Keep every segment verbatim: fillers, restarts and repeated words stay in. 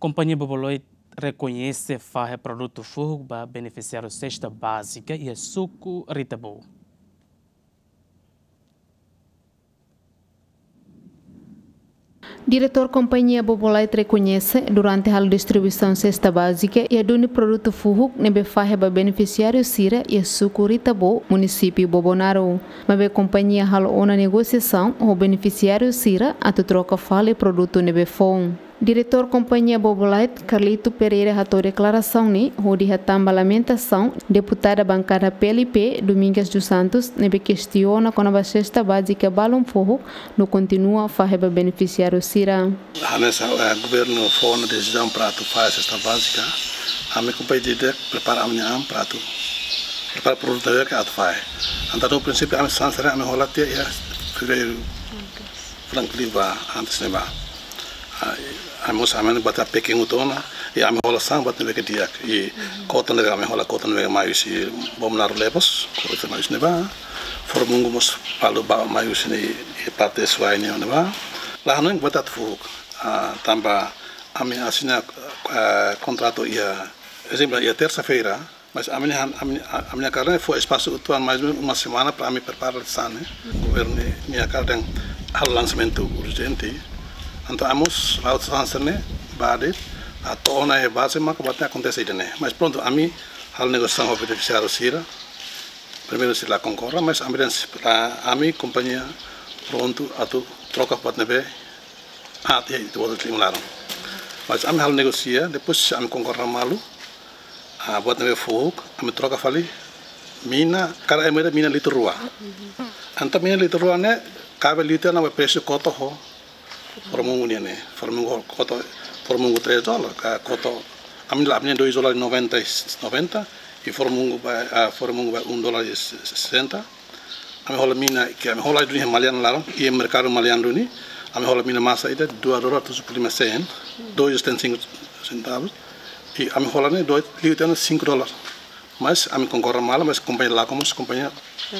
Kompañia Bobolight rekoñese fahe produtu fuhuk ba benefisiáriu sesta bázika iha suku Ritabo. Diretór Kompañia Bobolight rekoñese durante halo distribuisaun sesta bázika iha duni produtu fuhuk ne'ebé fahe ba benefisiáriu sira iha suku Ritabo, munisípiu Bobonaro. Maibé kompañia halo ona negosiasaun ho benefisiáriu sira atu troka fali produtu ne'ebé foun. Diretór Kompañia Bobolight, Carlito Pereira, hato'o deklarasaun ne'e hodi hatán ba lamentasaun deputada bankada P L P, Domingas dos Santos, ne'ebé kestiona kona-ba sesta bázika balun fuhuk no kontinua fahe ba benefisiáriu sira. Hanesan, eh, governu fó ona desizaun para atu fahe sesta bázika, ami kompañia ida prepara ami-nia an para atu prepara produtu ida ke atu fahe. Entaun no prinsípiu ami hanesan sira ami hola tiha iha fevereiru, fulan ke liubá, antes ne'ebá. Ah, ami mós ami bati pekin utona, i ami hola sasán buat ne'ebé ke di'ak, i kota ne'ebé ami hola kota ne'ebé mai husi Bobonaro Lebos, kota mai husi ne'ebá, Foromungu mós balu ba mai husi ne'e, i parte Suai ne'e ne'ebá. La hanoin buat atu fuhuk, ah, tanba ami asina, ah, kontratu iha, ezemplu, iha tersa-feira, mas ami-nia han-, ami, ami-nia hakarak ne'e fó espasu uitoan mais ou menus uma semana para ami prepara sasán ne'e. Governu nia hakarak dehan halo lansamentu urjente. Entaun ami mós la'o hanesan ne'e, ba de'it, atu ona iha baze maka buat ne'e akontese ida-ne'e. Mas prontu, ami halo negosiasaun ho benefisiáriu sira. Primeiru sira la konkorda, mas ami dehan sira, ami kompañia prontu atu troka buat ne'ebé aat iha ita-boot nia liman laran. Mas ami halo negosia, depois ami konkorda malu, ah, buat ne'ebé fuhuk, ami troka fali mina, kada ema ida mina litru rua. Entaun mina litru rua ne'e, kabe litru ne'e ba presu kota ho Foromungu nian ne'e. Foromungu kota, Foromungu três dólar, ka kota, ami la, ami dois dólar noventa, noventa, i Foromungu ba, ah, Foromungu ba um dólar e sessenta. Ami hola mina, ke ami hola duni iha Maliana laran, iha merkadu Maliana duni, ami hola mina masa ida dua dólar tujuh puluh lima sen, dois e setenta e cinco centavos. I ami hola ne'e dua, liu tiha ona cinco dólar. Mas ami konkorda malu, mas kompañia la, komu kompañia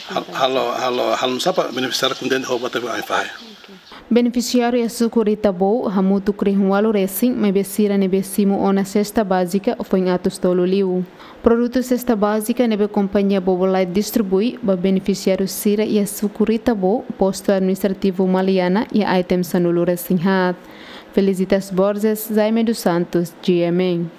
hal-, halo, halo, halo nusá para benefisiáriu kontente ho buat ne'ebé ami fahe. Benefisiáriu iha suku Ritabo hamutuk rihun ualu resin, maibé sira ne'ebé simu ona sesta bázika foin atus tolu liu. Produtu sesta bázika ne'ebé kompañia Bobolight distribui ba benefisiáriu sira iha suku Ritabo, postu administrativu Maliana, iha item sanulu resin haat. Felicitas Borges, Jaime dos Santos, G M N.